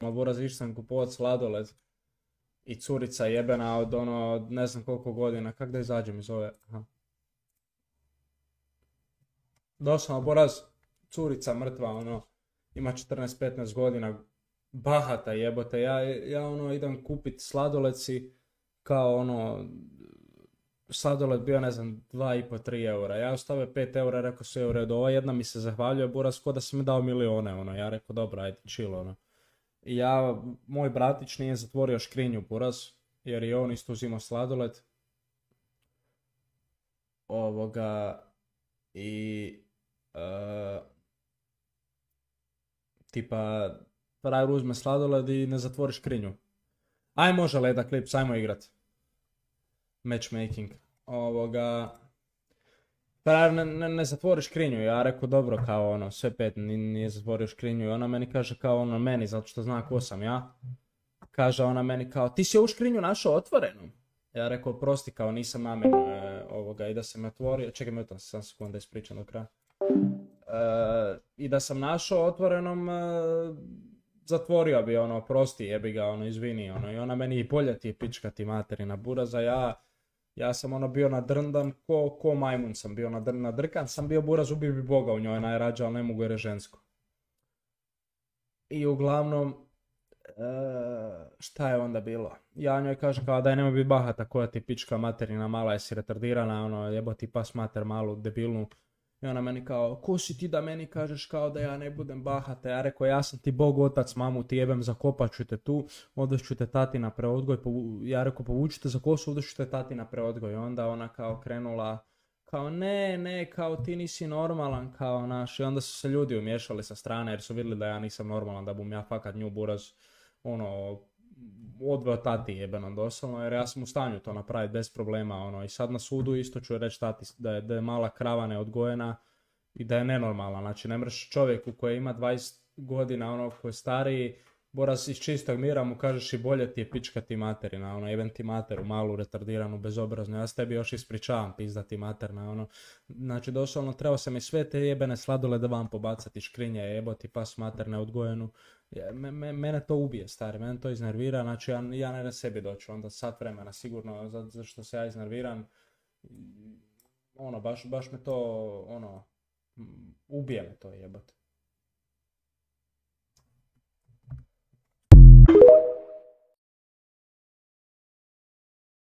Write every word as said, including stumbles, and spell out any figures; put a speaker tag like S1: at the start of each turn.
S1: Ma buraz, išao sam kupovat sladoled i curica jebena od ono, od ne znam koliko godina, kak da izađem iz ove, aha. Doslovno, buraz, curica mrtva, ono, ima četrnaest petnaest godina, bahata jebote, ja, ja ono idem kupit sladoleci, kao ono, sladoled bio ne znam dva i po tri eura, ja ostavio pet eura, rekao sve u redu, ova jedna mi se zahvaljuje, buraz, ko da si mi dao milione, ono, ja rekao dobro, ajde, chill, ono. I ja, moj bratić nije zatvorio škrinju, buraz, jer je on isto uzimao sladoled, ovoga, i, e, tipa, frajer uzme sladoled i ne zatvori škrinju. Aj može Leda Clips, ajmo igrat. Matchmaking. Ovoga... Frajer ne, ne, ne zatvori škrinju, ja rekao dobro kao ono, sve pet nije, nije zatvorio škrinju i ona meni kaže kao ono meni, zato što zna ko sam ja. Kaže ona meni kao, ti si ovu škrinju našao otvorenu? Ja rekao, prosti kao nisam namjerno e, ovoga i da sam otvorio, čekaj mi sam sam sekund da ispričam do kraja. E, I da sam našao otvorenom, e, zatvorio bi ono, prosti jebi ga, ono, izvini, ono, i ona meni i bolje ti je pička ti materina buraza, ja, ja sam ono bio nadrndan, ko, ko majmun sam bio nadr, nadrkan, sam bio buraz, ubio bi Boga u njoj najrađe, ali ne mogu jer je žensko. I uglavnom, e, šta je onda bilo? Ja njoj kažem kao daj nemoj biti bahata koja ti pička materina mala, jesi retardirana, ono, jebo ti pas mater malu, debilnu. I ona meni kao, ko si ti da meni kažeš kao da ja ne budem bahata? Ja rekao, ja sam ti Bog otac, mamu ti jebem, zakopat ću te tu, odvest ću te tati na preodgoj, povu... ja rekao, povučite za kosu, odvest ću te tati na preodgoj. I onda ona kao krenula, kao ne, ne, kao ti nisi normalan, kao naš. I onda su se ljudi umješali sa strane jer su vidjeli da ja nisam normalan, da bum ja fakat nju buraz, ono, odveo tati jebeno doslovno, jer ja sam u stanju to napraviti bez problema, ono, i sad na sudu isto ću reći tati da je, da je mala krava neodgojena i da je nenormalna, znači ne mreš čovjeku koji ima dvadeset godina, ono, koji je stariji, boraz iz čistog mira mu kažeš i bolje ti je pička ti materina, ono, jebem ti materu, malu, retardiranu, bezobraznu, ja s tebi još ispričavam, pizda ti materna, ono, znači doslovno trebao sam i sve te jebene sladolede van pobacati, škrinje, jeboti pas mater neodgojenu. Me, me, mene to ubije, stari, mene to iznervira, znači ja, ja ne na sebi doću, onda sat vremena, sigurno, zato za što se ja iznerviram, ono, baš, baš me to, ono, ubije me to jebate.